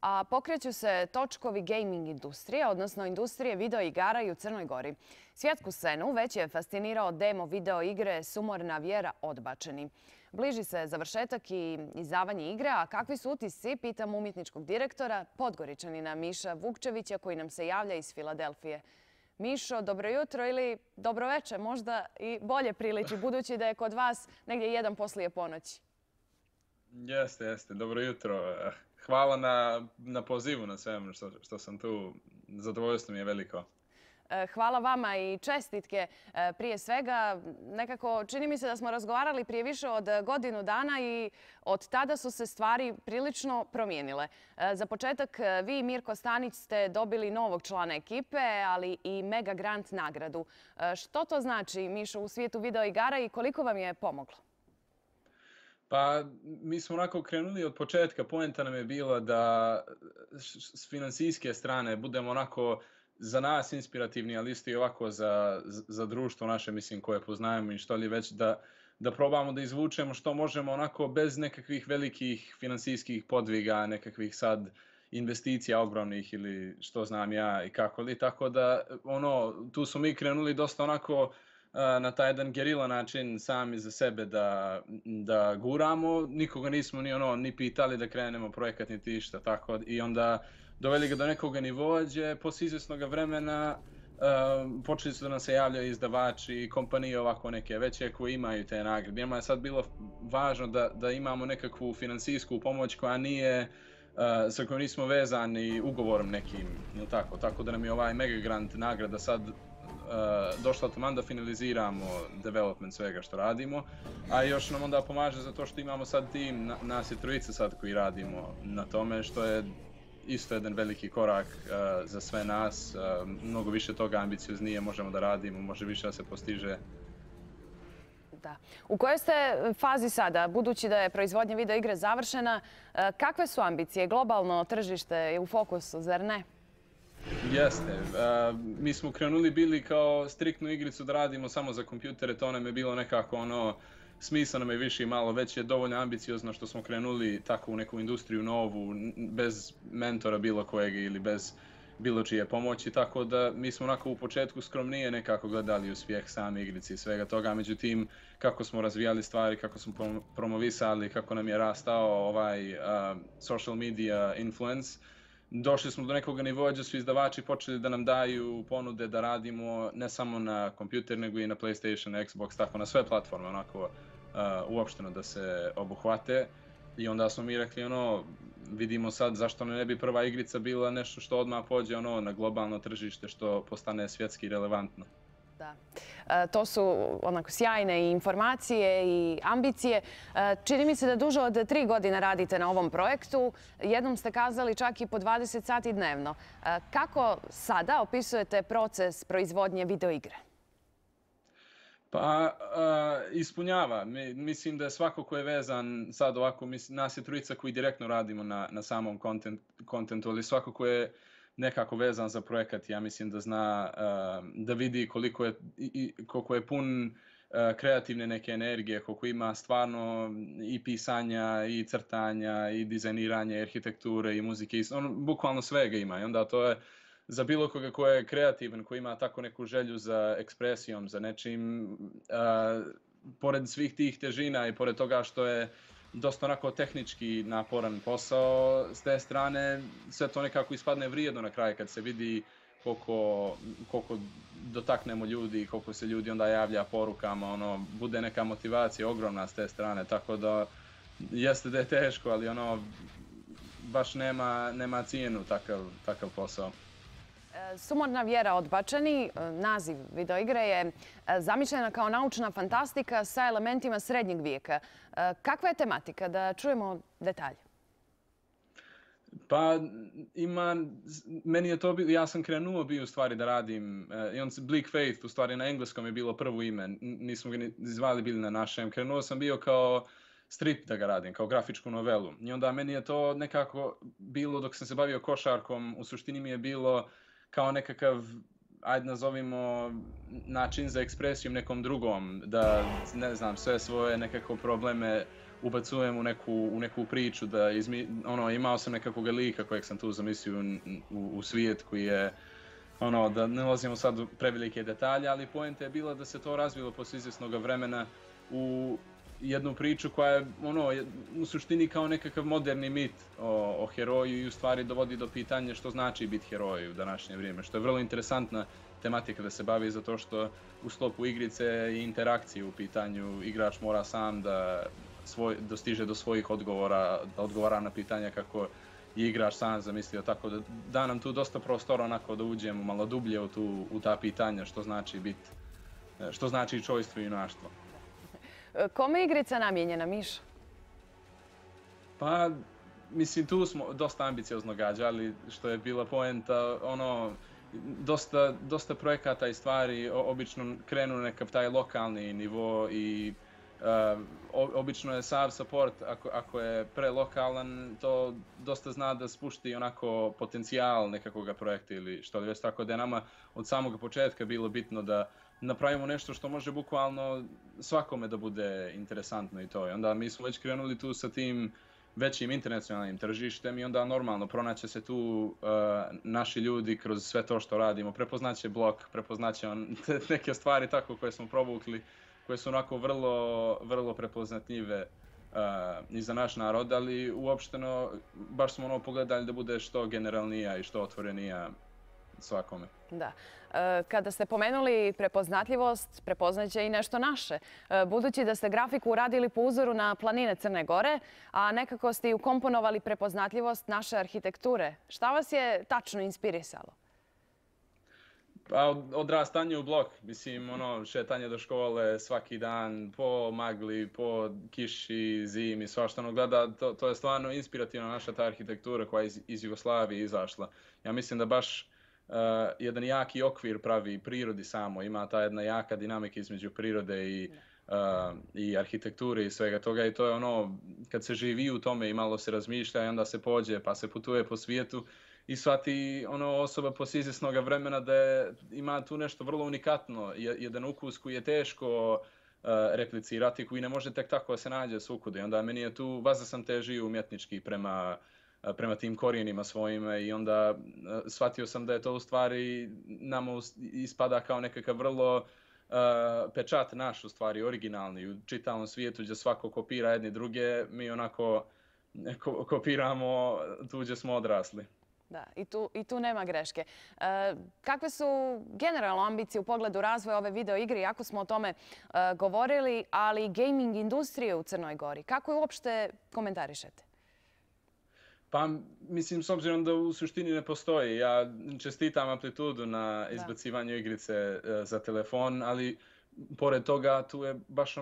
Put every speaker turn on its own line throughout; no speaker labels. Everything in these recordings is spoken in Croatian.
A pokreću se točkovi gaming industrije, odnosno industrije video igara i u Crnoj Gori. Svjetsku scenu već je fascinirao demo video igre Sumorna vjera odbačeni. Bliži se završetak i izdavanje igre, a kakvi su utisci, pitam umjetničkog direktora, Podgoričanina Miša Vukčevića, koji nam se javlja iz Filadelfije. Mišo, dobro jutro ili dobro večer, možda i bolje priliči, budući da je kod vas negdje 1 poslije ponoći.
Jeste. Dobro jutro. Hvala na pozivu, na svemu što sam tu. Zadovoljstvo mi je veliko.
Hvala vama i čestitke. Prije svega, nekako čini mi se da smo razgovarali prije više od godinu dana i od tada su se stvari prilično promijenile. Za početak, vi i Mirko Stanić ste dobili novog člana ekipe, ali i Mega Grant nagradu. Što to znači, Mišo, u svijetu video igara i koliko vam je pomoglo?
Pa, mi smo onako krenuli od početka. Poenta nam je bila da s financijske strane budemo onako za nas inspirativni, ali isto i ovako za društvo naše, mislim, koje poznajemo i što li već, da probamo da izvučemo što možemo onako bez nekakvih velikih financijskih podviga, nekakvih sad investicija ogromnih ili što znam ja i kako li. Tako da, tu smo mi krenuli dosta onako na taj jedan gerila način sami za sebe da guramo. Nikoga nismo ni pitali da krenemo projekat niti išta. Tako, i onda doveli ga do nekog nivoa gdje posle izvjesnog vremena počeli su da nam se javljaju izdavači i kompanije ovako neke veće koje imaju te nagrade. Njima je sad bilo važno da imamo nekakvu financijsku pomoć koja nije, sa kojom nismo vezani ugovorom nekim. Tako da nam je ovaj Mega Grant nagrada sad došla taman da finaliziramo development svega što radimo, a još nam onda pomaže zato što imamo sad tim, nas je 3 sad koji radimo na tome, što je isto jedan veliki korak za sve nas. Mnogo više toga ambicioznije možemo da radimo, može više da se postiže.
Da. U kojoj ste fazi sada, budući da je proizvodnja video igre završena, kakve su ambicije? Globalno tržište je u fokusu, zar ne?
Jeste. Mi smo krenuli bili kao striktnu igricu da radimo samo za kompjutere, to nam je bilo nekako smisla nam je više i malo, već je dovoljno ambiciozno što smo krenuli tako u neku industriju novu, bez mentora bilo kojeg ili bez bilo čije pomoći, tako da mi smo onako u početku skromnije nekako gledali uspjeh same igrice i svega toga, međutim kako smo razvijali stvari, kako smo promovisali, kako nam je rastao ovaj social media influence, došli smo do nekog nivoa gdje su izdavači počeli da nam daju ponude da radimo ne samo na kompjuter, nego i na PlayStation, Xbox, tako na sve platforme, onako uopšteno da se obuhvate. I onda smo mi rekli, vidimo sad zašto ne bi prva igrica bila nešto što odmah pođe na globalno tržište, što postane svjetski relevantno.
Da. To su onako sjajne i informacije i ambicije. Čini mi se da duže od 3 godine radite na ovom projektu. Jednom ste kazali čak i po 20 sati dnevno. Kako sada opisujete proces proizvodnje videoigre?
Pa, ispunjava. Mislim da je svako ko je vezan sad ovako, nas je 3 koji direktno radimo na samom kontentu, ali svako ko je nekako vezan za projekat, ja mislim da zna da vidi koliko je pun kreativne neke energije, koliko ima stvarno i pisanja, i crtanja, i dizajniranja, i arhitekture, i muzike, bukvalno svega ima. I onda to je za bilo koga ko je kreativan, ko ima tako neku želju za ekspresijom, za nečim, pored svih tih težina i pored toga što je dosta onako tehnički naporan posao, s te strane sve to nekako ispadne vrijedno na kraju kad se vidi koliko dotaknemo ljudi, koliko se ljudi onda javlja porukama, bude neka motivacija ogromna s te strane, tako da jeste da je teško, ali baš nema cijenu takav posao.
Sumorna vjera odbačeni, naziv videoigre, je zamišljena kao naučna fantastika sa elementima srednjeg vijeka. Kakva je tematika? Da čujemo detalje.
Pa, meni je to bilo, ja sam krenuo bio u stvari da radim, Bleak Faith, u stvari na engleskom je bilo prvo ime, nismo ga ni zvali bili na našem. Krenuo sam bio kao strip da ga radim, kao grafičku novelu. I onda meni je to nekako bilo, dok sam se bavio košarkom, u suštini mi je bilo kao nekakav, ajde nazovimo, način za ekspresiju nekom drugom, da, ne znam, sve svoje nekako probleme ubacujem u neku priču, da imao sam nekakvog lika kojeg sam tu zamislio u svijet koji je, da ne ulazimo sad u prevelike detalje, ali poenta je bila da se to razvilo poslije izvjesnog vremena u jednu priču koja je u suštini kao nekakav moderni mit o heroju i u stvari dovodi do pitanja što znači biti heroj u današnje vrijeme, što je vrlo interesantna tematika da se bavi, zato što u sklopu igrice i interakcije u pitanju igrač mora sam da dostiže do svojih odgovora, da odgovara na pitanja kako je igrač sam zamislio, tako da nam tu dosta prostora onako da uđemo malo dublje u ta pitanja što znači čojstvo i junaštvo.
Kome je igrica namijenjena, Mišo?
Pa, mislim, tu smo dosta ambiciozno gađali, što je bila poenta, dosta projekata i stvari obično krenu na nekakav taj lokalni nivo i obično je sav support, ako je prelokalan, to dosta zna da spušti onako potencijal nekakvog projekta ili što li već, tako da je nama od samog početka bilo bitno da napravimo nešto što može bukvalno svakome da bude interesantno i to. I onda mi smo već krenuli tu sa tim većim internacionalnim tržištem i onda normalno pronaće se tu naši ljudi kroz sve to što radimo. Prepoznaće blog, prepoznaće neke stvari tako koje smo provukli, koje su onako vrlo, vrlo prepoznatljive i za naš narod, ali uopšteno baš smo pogledali da bude što generalnija i što otvorenija svakome.
Da. Kada ste pomenuli prepoznatljivost, prepoznaće i nešto naše. Budući da ste grafiku uradili po uzoru na planine Crne Gore, a nekako ste i ukomponovali prepoznatljivost naše arhitekture, šta vas je tačno inspirisalo?
Pa odrastanje u blok, mislim, šetanje do škole svaki dan, po magli, po kiši, zimi, svašta gleda, to je stvarno inspirativna naša ta arhitektura koja je iz Jugoslavije izašla. Ja mislim da baš jedan jaki okvir pravi prirodi samo, ima ta jedna jaka dinamika između prirode i arhitekture i svega toga i to je kad se živi u tome i malo se razmišlja i onda se pođe pa se putuje po svijetu i shvati osoba poslije izvjesnog vremena da ima tu nešto vrlo unikatno, jedan ukus koji je teško replicirati, koji ne može tek tako da se nađe svukuda. I onda meni je tu, vazda sam težio umjetnički prema tim korijenima svojima i onda shvatio sam da je to u stvari nama ispada kao nekakav vrlo pečat naš, u stvari originalni u čitavom svijetu gdje svako kopira jedni druge, mi onako kopiramo tu gdje smo odrasli.
Da, i tu nema greške. Kakve su generalno ambicije u pogledu razvoja ove video igre, iako smo o tome govorili, ali i gaming industrije u Crnoj Gori? Kako je uopšte komentarišete?
Pa, mislim, s obzirom da u suštini ne postoji. Ja čestitam Amplitudu na izbacivanju igrice za telefon, ali pored toga tu je baš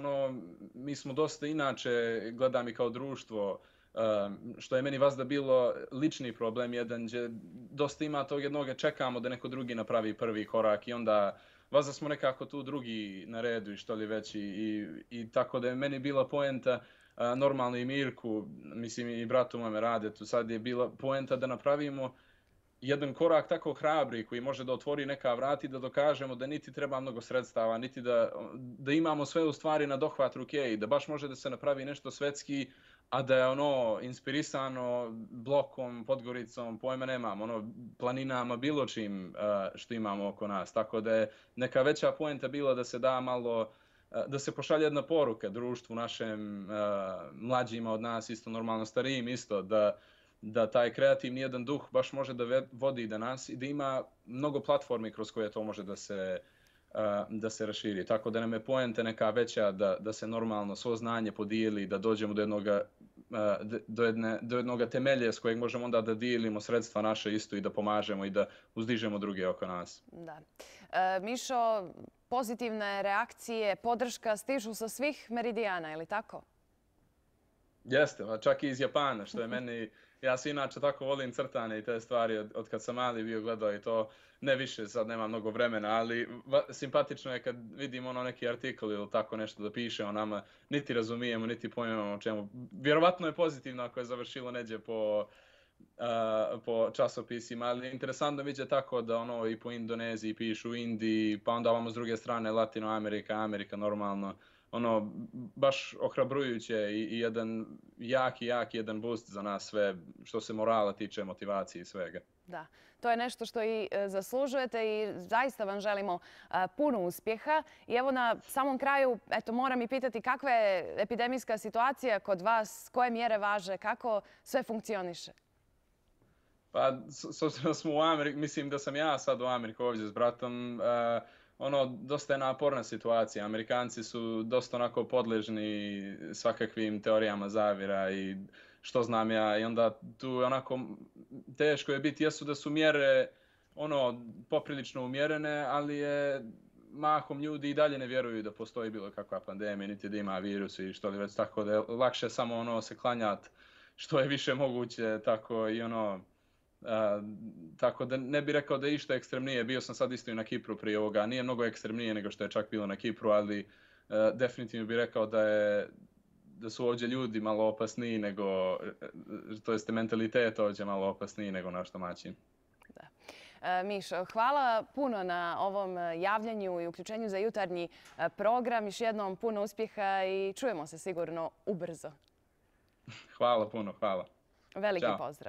mi smo dosta inače, gledam i kao društvo, što je meni vazda bilo lični problem jedan, gdje dosta ima tog jednoga, čekamo da neko drugi napravi prvi korak i onda vazda smo nekako tu drugi na redu i što li već i tako da je meni bila poenta, normalno i Mirku, mislim i bratu mome rade tu, sad je bila poenta da napravimo jedan korak tako hrabri koji može da otvori neka vrata i da dokažemo da niti treba mnogo sredstava, niti da imamo sve u stvari na dohvat ruke i da baš može da se napravi nešto svetski, a da je inspirisano Blokom, Podgoricom, pojma nemam, planinama, bilo čim što imamo oko nas. Tako da je neka veća poenta bila da se da malo, da se pošalje jedna poruka društvu našem, mlađima od nas, isto normalno starijim isto, da taj kreativni jedan duh baš može da vodi do nas i da ima mnogo platformi kroz koje to može da se raširi. Tako da nam je poenta neka veća da se normalno svo znanje podijeli, da dođemo do jednog temelja s kojeg možemo onda da dijelimo sredstva naše isto i da pomažemo i da uzdižemo druge oko nas.
Da. Mišo, pozitivne reakcije, podrška stižu sa svih meridijana, je li tako?
Jeste, čak i iz Japana, što je meni, ja se inače tako volim crtane i te stvari od kad sam mali bio gledao i to, ne više, sad nema mnogo vremena, ali simpatično je kad vidimo neki artikl ili tako nešto da piše o nama, niti razumijemo, niti pojmemo o čemu. Vjerovatno je pozitivno ako je završilo neđe po časopisima, ali interesantno vidjeti tako da i po Indoneziji pišu, u Indiji, pa onda ovamo s druge strane Latinoamerika, Amerika normalno. ono, baš ohrabrujuće i jedan jaki jedan boost za nas sve što se morala tiče, motivacije i svega.
Da, to je nešto što i zaslužujete i zaista vam želimo puno uspjeha. I evo na samom kraju, eto, moram i pitati kakva je epidemijska situacija kod vas, koje mjere važe, kako sve funkcioniše?
Pa, s obzirom da smo u Americi, mislim da sam ja sad u Ameriku ovdje s bratom, ono, dosta je naporna situacija. Amerikanci su dosta onako podležni svakakvim teorijama zavjera i što znam ja. I onda tu onako teško je biti. Jesu da su mjere ono poprilično umjerene, ali je mahom ljudi i dalje ne vjeruju da postoji bilo kakva pandemija, niti da ima virus i što li već, tako da je lakše samo ono se klanjati što je više moguće, tako i ono. Tako da ne bih rekao da je išta ekstremnije. Bio sam sad isto i na Kipru prije ovoga. Nije mnogo ekstremnije nego što je čak bilo na Kipru, ali definitivno bih rekao da su ovdje ljudi malo opasniji nego, to jest mentalitet ovdje malo opasniji nego naš domaćin.
Mišo, hvala puno na ovom javljanju i uključenju za jutarnji program. Još jednom puno uspjeha i čujemo se sigurno ubrzo.
Hvala puno, hvala.
Veliki pozdrav.